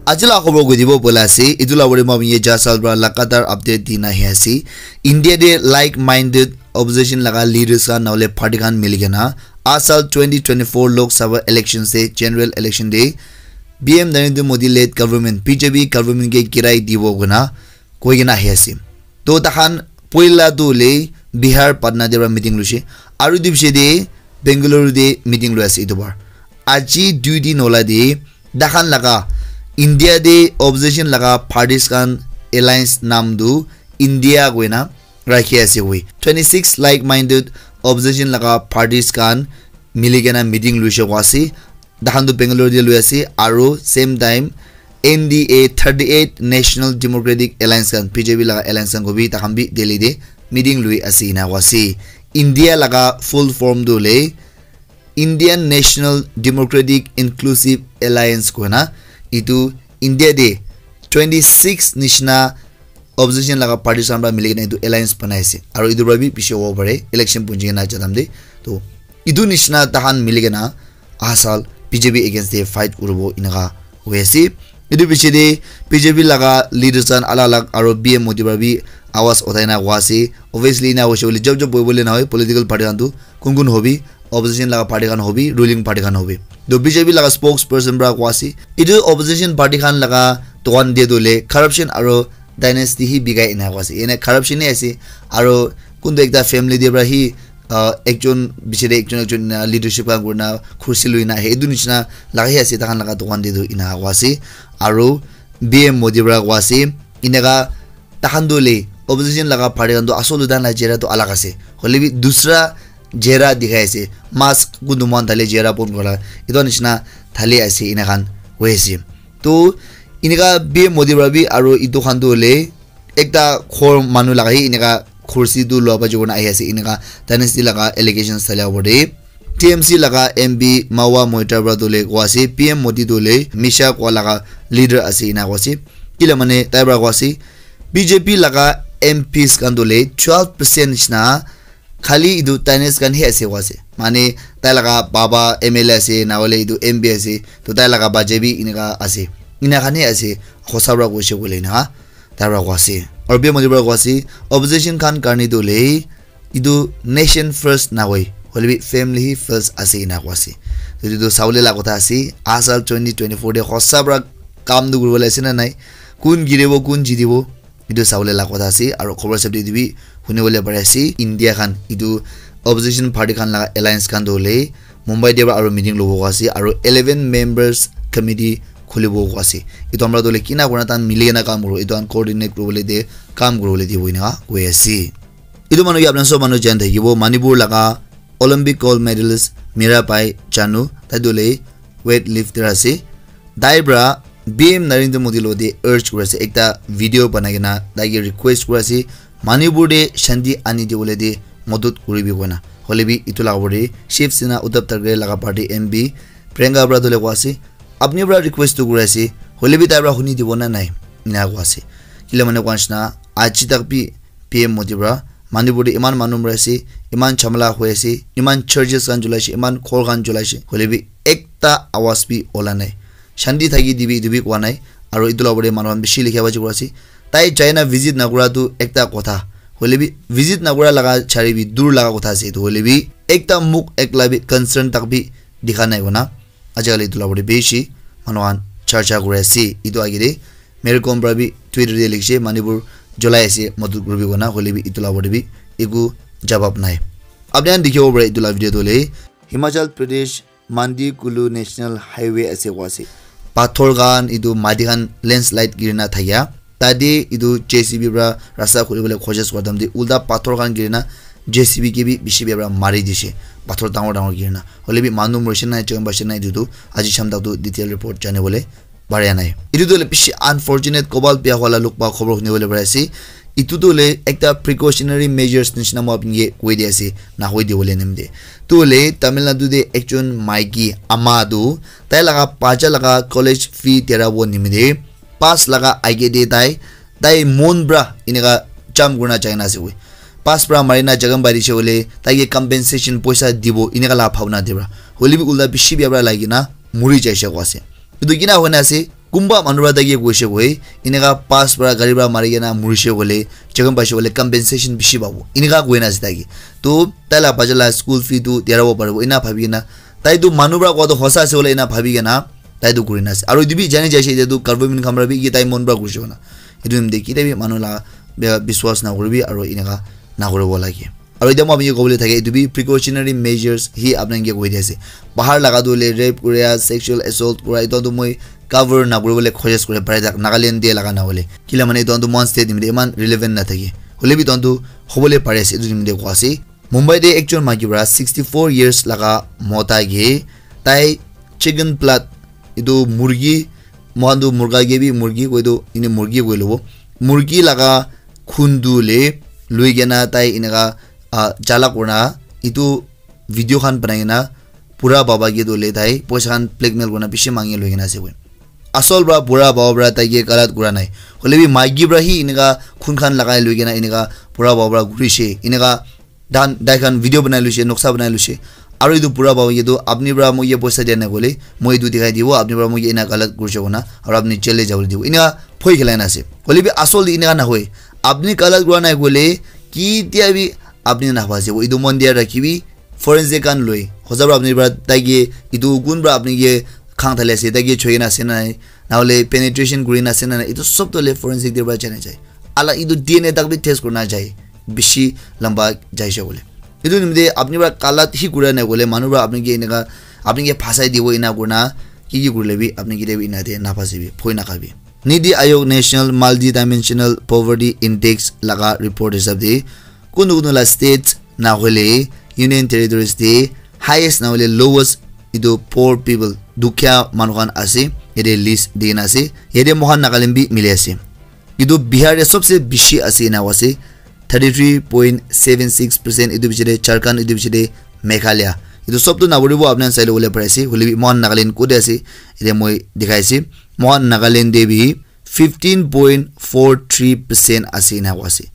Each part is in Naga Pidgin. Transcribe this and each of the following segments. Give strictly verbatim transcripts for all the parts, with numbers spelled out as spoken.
Aji la khobor koi dibo bola ase, etu la bari ma ye jasal pra lagatar update di na ahi ase. India de like-minded opposition laga leaders khan naule party khan mili kena asal twenty twenty-four Lok Sabha election se general election de P M Narendra Modi led government, B J P government ke girai dibo kena koi kena ahi ase. To takhan poila tu le Bihar Patna de pra meeting luishe. Aru etu piche de Bengaluru de meeting lui ase etu bar. Aji dui din hola de takhan laga India de opposition laga parties khan alliance nam tu India koina rakhi ase koi. Twenty-six like-minded opposition laga parties khan mili kena meeting luishe koi ase. Takhan tu Bangalore de lui ase aru same time N D A thirty-eight National Democratic Alliance khan, B J P laga alliance khan ko bi takhan bi Delhi de meeting lui ase ena koi ase. India laga full form tu le Indian National Democratic Inclusive Alliance koina etu India de twenty-six nishina opposition laga parties khan pra mili kena etu alliance banai ase. Aru etu pra bi piche hobo pare, election punji kena jadam de. To etu nishina takhan mili kena aha sal B J P against de fight kuribo eneka hoi ase. Etu piche de B J P laga leaders khan alag alag aru P M Modi pra bi awaz uthai na koi ase. Obviously ena hoise koile job job bohi bole na hoi, political party khan tu kun kun hobi, opposition laga party khan hobi, ruling party khan hobi. To B J P laga spokesperson pra koi ase, etu opposition party khan laga dukan de tu le corruption aru dynasty hi bikai ena koi ase. Ene corruption hi ase, aru kuntu ekta family de pra hi, ah, ekjon biche de ekjon ekjon ena leadership khan kurina khursi lui na ahe. Etu nishina laga hi ase, takhan laga dukan de tu ena koi ase. Aru P M Modi pra koi ase, eneka takhan tu le opposition laga party khan tu asol tu takhan la chehra tu alag ase. Hoile bi dusra chehra dikhai ase. Mask kuntu moikhan thale chehra bon kura. Etu nishina thale ase, ena khan hoi ase. To eneka P M Modi pra bi aru etu khan tu hoile ekta ghor manu laga hi eneka khursi tu lua pa jabo na ahi ase, eneka dynasty laga allegations thalia opor de. T M C laga M P Mahua Moitra pra tu le koi ase, P M Modi tu le misha koi laga leader ase ena koi ase. Kila mane tai pra koi ase, B J P laga M Ps khan tu le twelve percent nishina khali etu dynasty khan hi ase koi ase. Mane tai laga baba M L A ase, na hoile etu M P ase, to tai laga bacha bi eneka ase. Ena khan hi ase, hosa pra koise koile na, tai pra koi ase. Aru P M Modi pra koi ase, opposition khan karne tu le etu nation first na hoi, hoile bi family hi first ase ena koi ase. To etu tu sabole la kotha ase, aha sal twenty twenty-four de hosa pra kam tu kuribole ase na nai, kun giribo, kun jitibo, etu sabole la kotha ase. Aru khobor sab de etu bi huni bole pari ase, India khan etu opposition party khan laga alliance khan tu hoile Mumbai de pra aru meeting lobo koi ase, aru eleven members committee khulibo koi ase. Etu amra tu hoile kina kurina takhan mili kena kam kuribo, etu khan coordinate kuribole de kam kuribole dibo ena koi ase. Etu manu ke apna sob manu jan thakibo, Manipur laga Olympic gold medalist Mirabai Chanu, tai tu hoile weight lifter ase. Tai pra P M Narendra Modi lo de urge kuri ase, ekta video banai kena tai ke request kuri ase, Manipur de shanti ani dibole de madad kuribi koina. Hoile bi etu laga opor de Shiv Sena Uddhav Thackeray laga party M P Priyanka pra tu hoile koi ase, apni pra request tu kuri ase, hoile bi tai pra huni dibo na nai, ena koi ase. Kile mane koi nishina, aji tak bi P M Modi pra Manipur de iman manu mari ase, iman jhamala hoi ase, iman churches khan julai ase, iman ghor khan julai ase, hoile bi ekta awaz bi ola nai. Shanti thaki dibi etu bi koa nai. Aru etu la opor de manu khan bishi likha baji kuri ase. Tai jai na visit na kura tu ekta kotha. Hoile bi visit na kura laga chari bi dur laga kotha ase etu. Hoile bi ekta mukh ekla bi concern tak bi dikha nai koina. Ajikali etu la opor de bishi manu khan charcha kuri ase. Etu age de Mary Kom pra bi Twitter de likhishe, Manipur julai ase, madad kuribi koina, hoile bi etu la opor de bi eku jawab nai. Apni khan dikhibo pare etu la video tu hoile Himachal Pradesh Mandi Kulu National Highway ase koi ase. Pathor khan, etu mati khan landslide girina thakia. Tate etu J C B pra rasta khuli bole koshish kura time te ulta pathor khan girina J C B ke bi bishi bia pra mari dishe. Pathor dangor dangor girina. Hoile bi manu morishe nai, jon baishe nai, etu tu aji sham tak tu detail report jani bole pare nai. Etu tu hoile bishi unfortunate, kobal bia wala lok pa khobor huni bole pare ase. Etu tu hoile ekta precautionary measures nishina moi apni ke koi di ase, na hoi di bole nim de. Tu hoile Tamil Nadu de ekjon maiki ama tu tai laga bacha laga college fee dera bo nimite pass laga age de tai, tai mon pra eneka jump kurina jai na ase koi. Pass pra mari na jaga pai dishe hoile tai ke compensation poisa dibo eneka la bhabna de pra. Hoile bi ulta bishi bia pra lagi na muri jaishe koi ase. Etu kina hoi na ase, Kunba manu para tai ke koise koi, eneka pass para gari para mari kena murise koile, jokhom paise koile compensation bishi pabo. Eneka koi na ase tai ke. To tai la bacha la school fee tu diarabo paribo. Ena bhabi kena, tai tu manu para kowa tu hosa ase koile ena bhabi kena, tai tu kuri na ase. Aru etu bi jani jaise, etu tu government khan para bi ki tai mon para kurise koina. Etu nimite kitia bi manu la bia biswas na kuribi aru eneka na kuribo lage. Aru etia moi apni ke kobole thake, etu bi precautionary measures hi apni ke koi di ase. Bahar laga tu hoile rape kuria, sexual assault kura, etu tu moi cover na kuribole khojis kure pare tak Nagaland te laga na hoile. Kila mane etu tu mon state nimite iman relevant na thake. Hoile bi etu tu hobole pare ase, etu nimite koi ase. Mumbai te ekjon maiki para sixty four years laga mota ke tai chicken blood, etu murgi, mohan tu murga ke bi murgi koi tu, ine murgi koi lobo. Murgi laga khun tu le lui kena tai eneka, ah, jala kurna etu video khan banai kena pura baba ke tu le tai poisa khan blackmail kurna bishi mangi lui kena ase koi. Asol para pura baba para tai ke galat kura nai. Hoile bi maiki para hi eneka khun khan lagai lui kena eneka pura baba para kurise. Eneka dan tai khan video banai luise, noksa banai luise. Aru etu pura baba ke tu apni para moi ke poisa dia nai koile, moi etu dikhai dibo, apni para moi ke ena galat kurise koina, aru apni jail te jabole dibo. Ena phoi khelai na ase. Hoile bi asol te eneka na hoi. Apni galat kura nai koile, kitia bi apni na phasibo. Etu mon dia rakhibi, forensic khan loi. Hosa para apni para tai ke etu kun para apni ke khang thale ase, tai ke choi na ase na nai. Na hole penetration kuri na ase na nai. Etu sob to le forensic te para jana jai. Ala etu D N A tak bi test kurina jai. Bishi lamba jaise bole. Etu nimite apni para galat hi kura nai koile, manu para apni ke eneka, apni ke phasai dibo ena kurina, ki ki kurile bi apni kitia bi ena te na phasibi, phoi na khabi. Niti Aayog National Multidimensional Poverty Index laga report hisab te, kunu kunu la states na hoile Union Territories te highest na hoile lowest etu poor people, dukhiya manu khan ase, yate list di kena ase. Yate moikhan Nagaland bi mili ase. Etu Bihar te sobse bishi ase ena koi ase, thirty three point seven six percent, etu piche te Jharkhand, etu piche te Meghalaya. Etu sob tu napuribo, apni khan sai le bole pari ase, hoile bi moikhan Nagaland kote ase, yate moi dikhai ase. Moikhan Nagaland te bi fifteen point four three percent ase ena koi ase.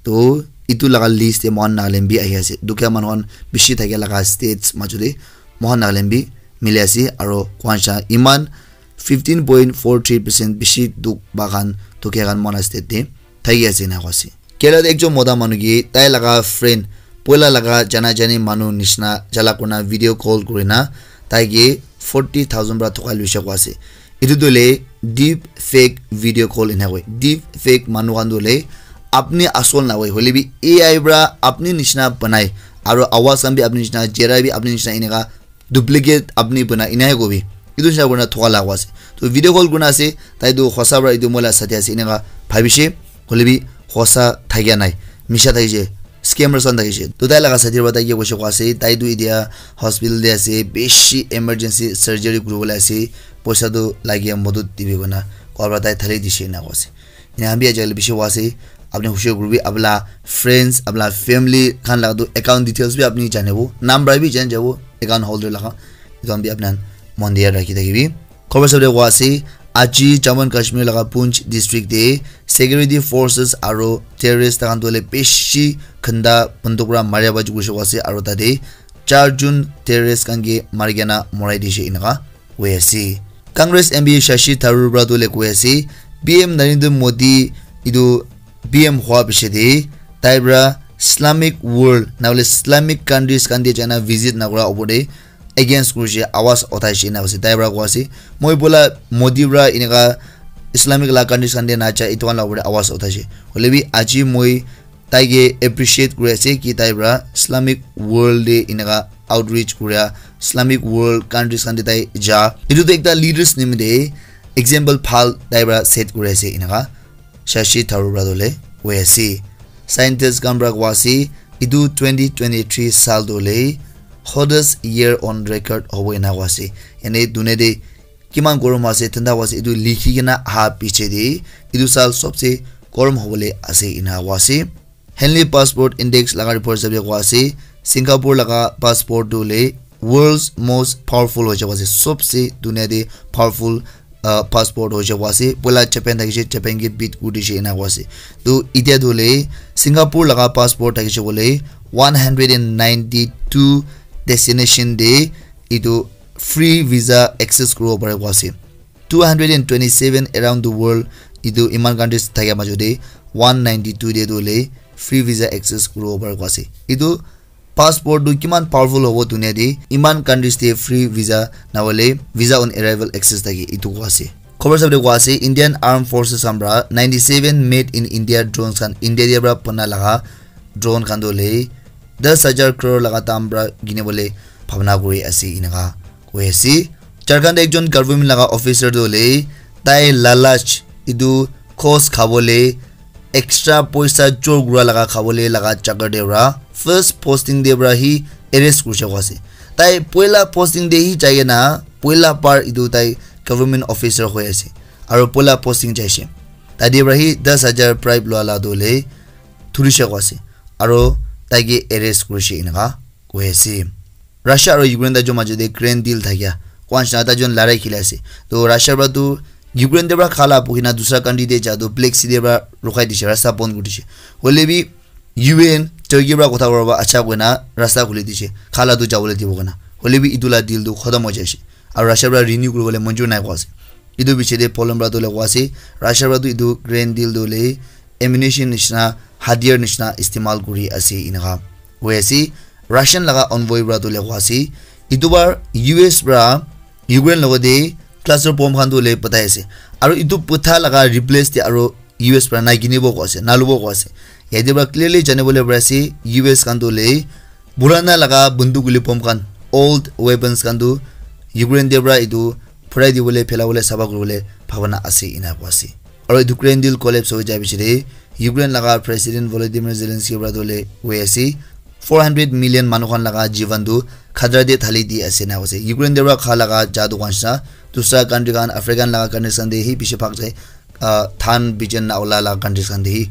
To etu laga list te moikhan Nagaland bi ahi ase. Dukhiya manu khan bishi thakia laga states majo te moikhan Nagaland bi mili ase, aro koan sha iman fifteen point four three percent bishi dukh pa khan, dukhiya khan moikhan la state te thaki ase ena koi ase. Kerala te ekjon mota manu ke tai laga friend, poila laga jana jani manu nishina jala kurina video call kurina tai ke forty thousand para thokai luise koi ase. Etu tu hoile deep fake video call ena koi. Deep fake manu khan tu hoile apni asol na hoi, hoile bi A I para apni nishina banai, aro awaz khan bi apni nishina, chehra bi apni nishina, eneka duplicate apni bana ena he kobi. Etu nishina kurina thoka la koi ase. To video call kurina ase, tai tu hosa para etu moi la sathi ase eneka bhabise, hoile bi hosa thakia nai, misha thakise, scammers khan thakise. To tai laga sathi para tai ke koise koi ase, tai tu etia hospital te ase, bishi emergency surgery kuribole ase, poisa tu lage, modot dibi koina koa para tai thali dise ena koi ase. Ena khan bi ajikali bishi hua ase. Apni hushar kuribi, apni la friends, apni la family khan laga tu account details bi apni janibo, naam para bi jani jabo account holder laga. Etu khan bi apni khan mon de yaad rakhi thakibi. Khobor sabole koi ase, aji Jammu and Kashmir laga Poonch district te security forces aro terrorist khan tu hoile bishi ghanta banduk para maria baji kurise koi ase, aro tate char jon terrorist khan ke mari kena morai dise eneka hoi ase. Congress M P Shashi Tharoor para tu hoile koi ase, P M Narendra Modi etu P M hua piche te tai para Islamic world na hoile Islamic countries khan te jaina visit na kura opor te against kurise, awaz uthaise ena koi ase. Tai para koi ase, moi bola Modi para eneka Islamic la countries khan te na ja, etu khan la opor te awaz uthaise. Hoile bi aji moi tai ke appreciate kuri ase ki tai para Islamic world te eneka outreach kuria, Islamic world countries khan te tai ja. Etu tu ekta leaders nimite example bhal tai para set kuri ase eneka Shashi Tharoor para tu hoile koi ase. Scientist khan para koi ase, etu twenty twenty-three saal tu hoile hottest year on record hobo ena koi ase. Yate dunia te kiman gorom ase, thanda ase, etu likhi kena aha piche te etu saal sobse gorom hobole ase ena koi ase. Henley Passport Index laga report hisab te koi ase, Singapore laga passport tu hoile world's most powerful hoi jabo ase, sobse dunia te powerful, uh, passport hoi jabo ase. Poila Japan thakise, Japan ke beat kuri dise ena koi ase. To etia tu hoile Singapore laga passport thakise hoile one hundred and ninety two destination te etu free visa access kuribo pare koi ase. two hundred and twenty-seven around the world, etu iman countries thakia majot te one ninety-two te tu hoile free visa access kuribo pare koa ase. Etu passport tu kiman powerful hobo dunia te, iman countries te free visa na hoile visa on arrival access thake, etu koa ase. Khobor sab te koa ase, Indian Armed Forces khan para ninety-seven made in India drones khan, India te para bana laga drone khan tu hoile das hajar crore laga dam para kini bole bhabna kuri ase, eneka koi ase. Jharkhand te ekjon government laga officer tu hoile tai lalach, etu khos khabole, extra poisa chor kura laga khabole laga chakar te para first posting te para hi arrest kurishe koa ase. Tai poila posting te hi jai kena poila bar etu tai government officer hoi ase, aro poila posting jaise. Tate para hi das hajar bribe lua la tu hoile thurishe koa ase, aro tai ke arrest kurishe, eneka koi ase. Russia aro Ukraine tai jon majot te grain deal thakia koa nishina tai jon larai khili ase. To Russia para tu Ukraine te para kha la buhi na dusra country te ja tu Black Sea te para rokhai dishe, rasta bon kuri dishe. Hoile bi U N Turkey para kotha kura ba acha koina rasta khuli dishe, kha la tu jabole dibo koina. Hoile bi etu la deal tu khotom hoi jaise, aro Russia para renew kuribole manjur nai koa ase. Etu piche te Poland para tu hoile koa ase, Russia para tu etu grain deal tu hoile ammunition nishina, hatiyar nishina istemal kuri ase, eneka koi ase. Russian laga envoy para tu hoile koa ase, etu bar U S para Ukraine logot te cluster bomb khan tu hoile patai ase, aro etu patha laga replace te aro U S para nai kinibo koa ase, nalubo koa ase. Yate para clearly janibole pari ase, U S khan tu hoile purana laga banduk guli bomb khan, old weapons khan tu Ukraine te para etu phurai dibole, phelabole, saba kuribole bhabana ase, ena koa ase. Aro etu grain deal collapse hoi jai piche te Ukraine laga President Volodymyr Zelensky para tu hoile koi ase, four hundred million manu khan laga jivan tu khatra te thali di ase, ena koa ase. Ukraine te para kha laga ja tu koa nishina, dusra country khan, African laga countries khan te hi bishi bhag jai, ah, dhan bijan na ola laga countries khan te hi.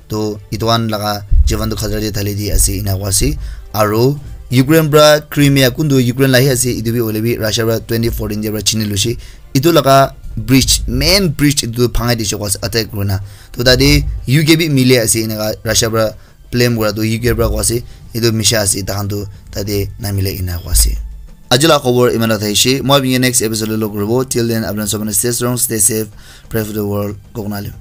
To etu khan laga jivan tu khatra te thali di ase, ena koa ase. Aro Ukraine para Crimea, kuntu Ukraine la hi ase, etu bi hoile bi Russia para twenty fourteen te para chini loise. Etu laga bridge, main bridge etu bhangai dishe koa ase, attack kurina. To tate U K bi mili ase, eneka Russia para blame kura tu U K para koa ase, etu misha ase, takhan tu tate namile, ena koa ase. Aji la khobor iman ta thaishe, moi apni ke next episode te log kuribo. Till then, apni khan sob stay strong, stay safe, pray for the world. Koknalim.